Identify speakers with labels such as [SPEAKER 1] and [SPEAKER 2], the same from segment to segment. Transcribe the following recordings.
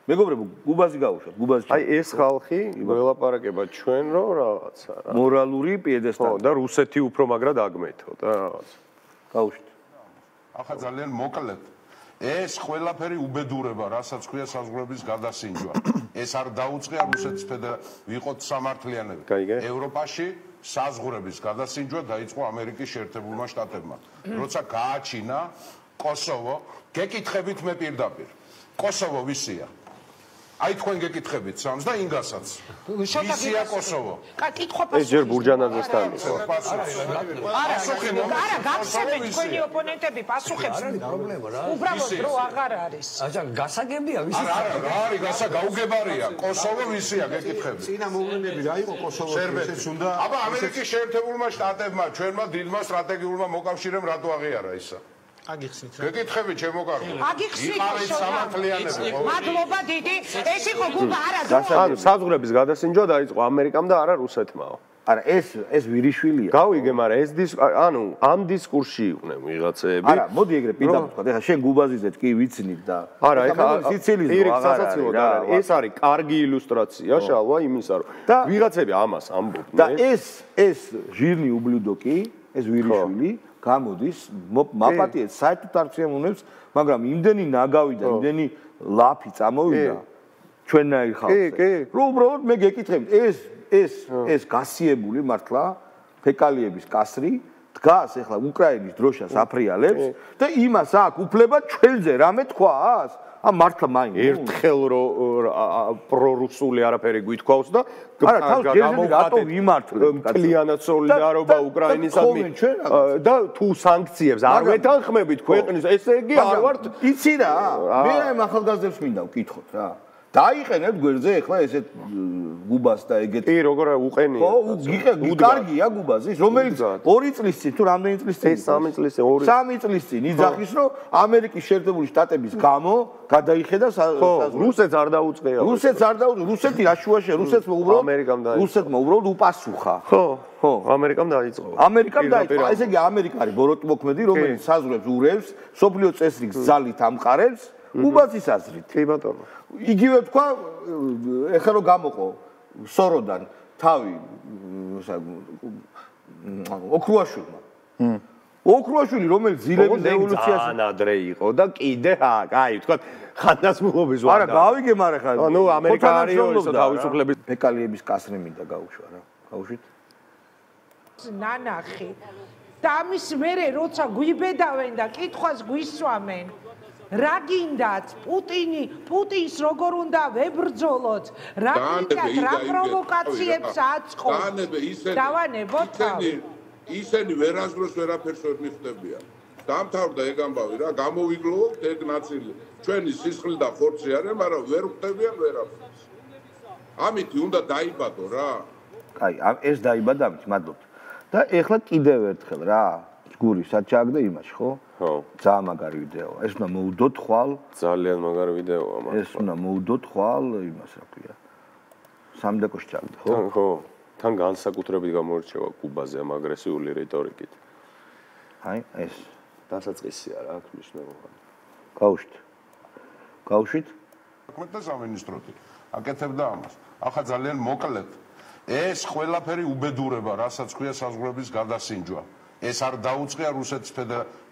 [SPEAKER 1] მეგობრებო, გუბაზი გავუშვათ, გუბაზი.
[SPEAKER 2] აი ეს ხალხი ველაპარაკება ჩვენ რომ რაღაცა რა.
[SPEAKER 1] მორალური პიედესტალი.
[SPEAKER 2] და რუსეთი უფრო მაგრად აგმეთო და რაღაცა.
[SPEAKER 1] გავუშვით.
[SPEAKER 3] ახლა ძალიან მოკლედ. ეს ყველაფერი უბედურება, რასაც ქვია საზღვრების გადასინჯვა. ეს არ დაუწყია რუსეთის ვიყოთ სამართლიანები. ევროპაში საზღვრების გადასინჯვა დაიწყო ამერიკის შეერთებულმა შტატებმა. როცა გააჩინა კოსოვო, გეკითხებით მე პირდაპირ. კოსოვო ვისია? აი თქვენ გეკითხებით სამს და ინგასაც. ვისია კოსოვო?
[SPEAKER 2] ეს ჯერ ბურჯანაძესთან იყო.
[SPEAKER 4] არა, გახსენეთ თქვენი ოპონენტები პასუხებს. უბრალოდ დრო აღარ არის.
[SPEAKER 5] აჩა გასაგებია ვისი?
[SPEAKER 3] არა, არის გაუგებარია. კოსოვო ვისია გეკითხებით?
[SPEAKER 6] წინა მოვლენები რა იყო კოსოვოს ესეც უნდა
[SPEAKER 3] აბა ამერიკის შეერთებულმა შტატებმა ჩვენმა დიდმა სტრატეგიულმა მოკავშირემ რატო აღიარა ისა?
[SPEAKER 6] აგიხსნით რა.
[SPEAKER 3] გეკითხებით ჩემო კარგო.
[SPEAKER 4] აგიხსნით
[SPEAKER 3] სამართლიანები.
[SPEAKER 4] მადლობა დიდი. ეს იყო გუბა არა დრო.
[SPEAKER 2] ანუ საზღვრების გადასინჯვა დაიწყო ამერიკამ და არა რუსეთმაო.
[SPEAKER 1] არა, ეს ვირიშვილია.
[SPEAKER 2] გავიგე, მაგრამ ეს ანუ ამ დისკურსში იყვნენ ვიღაცები.
[SPEAKER 1] არა, მოდი ეგრე პირდაპირ ვთქვა. ეხლა შენ გუბაზიზეთ კი ვიცნით და
[SPEAKER 2] არა, ეხლა
[SPEAKER 1] სიცილიზმო
[SPEAKER 2] აღარ არის. ეს არის კარგი ილუსტრაცია შალვა იმისა, რომ ვიღაცები ამას ამბობდნენ.
[SPEAKER 1] და ეს ჟირნი უბლუდო კი, ეს ვირიშვილი გამოდის მაპატიეთ საერთოდ არ შეამუნებს, მაგრამ იმდენი ნაგავი და იმდენი ლაფი წამოვიდა ჩვენნაირ ხალხზე. რომ უბრალოდ მე გეკითხებით, ეს გასიებული მართლა ფეკალიების კასრი დგას ახლა უკრაინის დროშას აფრიალებს და იმას აქვს უფლება ჩვენზე რამე თქვას? მართლა მაინც
[SPEAKER 2] ერთხელ პრორუსული არაფერი გვითქვავს და
[SPEAKER 1] არა თავს ჯერჯერობით რატო ვიმართლებ
[SPEAKER 2] მთლიანად სოლიდარობა უკრაინისადმი და თუ სანქციებს არ ვეთანხმებით ქვეყნის ესე იგი არ ვართ
[SPEAKER 1] იცი რა მე ამ ახალგაზრდებს მინდა ვკითხოთ რა დაიყენებ გვერდზე ახლა ესეთ გუბას და ეგეთ
[SPEAKER 2] კი როგორ უყენია
[SPEAKER 1] ხო კარგია გუბაზის რომელიც 2 წლის წინ თუ რამდენი წლის წინ
[SPEAKER 2] 3 წლის წინ
[SPEAKER 1] 3 წლის წინ იძახის რომ ამერიკის შეერთებული შტატების გამო გადაიხედა
[SPEAKER 2] რუსეთს არ დაუწყია
[SPEAKER 1] რუსეთი რაშუაშია რუსეთმა უბრალოდ უპასუხა
[SPEAKER 2] ხო ამერიკამ დაიწყო
[SPEAKER 1] ესე იგი ამერიკა არის ბოროტმოქმედი რომელიც საზღვრებს ურევს სოფლიო წესრიგს ძალით ამყარებს გუბაზის აზრით
[SPEAKER 2] კი ბატონო
[SPEAKER 1] იგივე თქვა ეხლა რომ გამოყო სოროდან თავი ოქრუაშვილმა ოქრუაშვილი რომელიც ძილების რევოლუციაში
[SPEAKER 2] ანადრე იყო და კიდე აი თქვა ხანდაზმულობის ვარ
[SPEAKER 1] არა გავიგე მაგრამ ხა
[SPEAKER 2] ნუ ამერიკა არის ისო თავისუფლების
[SPEAKER 1] ფეკალიების კასრი მინდა გაუშვა რა გავუშვით
[SPEAKER 4] ნანახი და ამის მერე როცა გვიბედავენ და კითხვას გვისვამენ რა გინდათ პუტინს როგორ უნდა ვებრძოლოთ რა გინდათ რა პროვოკაციებს აწყობს დავანებოთ
[SPEAKER 7] ისინი ვერასდროს ვერაფერს ვერ მიხვდებიან დამთავრდა ეგ ამბავი რა გამოვიგლოვოთ ეგ ნაწილი ჩვენი სისხლი და ხორცი არის მაგრამ ვერ ხვდებიან ვერაფერს ამით უნდა დაიბადო რა
[SPEAKER 1] აი ეს დაიბადა ამით მადლობთ და ეხლა კიდევ ერთხელ რა გური საჩაგდა იმაში ხო?
[SPEAKER 2] ხო.
[SPEAKER 1] ძალიან მაგარი ვიდეოა. ეს უნდა მოუდოთ ხვალ.
[SPEAKER 2] ძალიან მაგარი ვიდეოა მაგრამ.
[SPEAKER 1] ეს უნდა მოუდოთ ხვალ იმას რა ქვია. სამდეკოში ჩაგდა ხო?
[SPEAKER 2] ხო. თან განსაკუთრებით გამოირჩევა კუბაზე ამ აგრესიული რიტორიკით.
[SPEAKER 1] აი ეს
[SPEAKER 2] დასაწყისია რა აქვს მნიშვნელობა.
[SPEAKER 1] გავუშვით?
[SPEAKER 3] და სამინისტროთი აკეთებდა ამას. ახლა ძალიან მოკლედ ეს ყველაფერი უბედურება, რასაც ქვია საზღვრების გადასინჯვა. ეს არ დაუწყია რუსეთის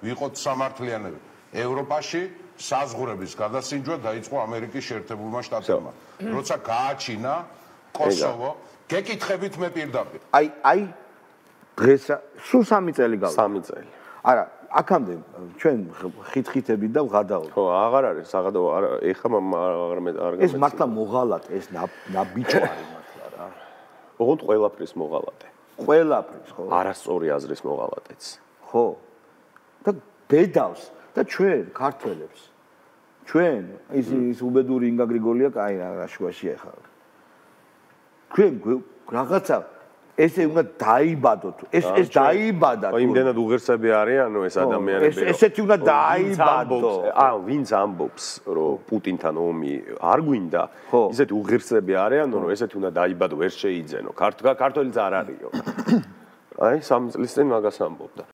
[SPEAKER 3] ვიყოთ სამართლიანები. ევროპაში საზღვრების გადასინჯვა დაიწყო ამერიკის შეერთებულმა შტატებმა. როცა გააჩინა კოსოვო, გეკითხებით მე პირდაპირ.
[SPEAKER 1] აი დღეს სულ 3 წელი გავიდა.
[SPEAKER 2] 3 წელი.
[SPEAKER 1] არა, აქამდე ჩვენ ხითხითებით და ვღადაობთ.
[SPEAKER 2] ხო, აღარ არის საღადო, ეხლა აღარ
[SPEAKER 1] ეს მართლა მოღალატე, ეს ნაბიჯვარი მართლა რა.
[SPEAKER 2] ოღონდ ყველაფრის მოღალატე.
[SPEAKER 1] ყველაფრის ხო
[SPEAKER 2] არასწორი აზრის მოღალატეც
[SPEAKER 1] ხო და ბედავს და ჩვენ ქართველებს ჩვენ ის უბედური ინგა გრიგოლია კაი რა შუაშია ხა ჩვენ რაღაცა ესე უნდა დაიბადოთ ეს დაიბადა
[SPEAKER 2] აი იმდენად უღირსები არიანო ეს ადამიანები
[SPEAKER 1] ესეთი უნდა დაიბადო
[SPEAKER 2] ვინც ამბობს რომ პუტინთან ომი არ გვინდა ისეთი უღირსები არიანო რომ ესეთი უნდა დაიბადო ვერ შეიძენო ქართველიც არ არისო აი 3 წლის წინ მაგას ამბობდა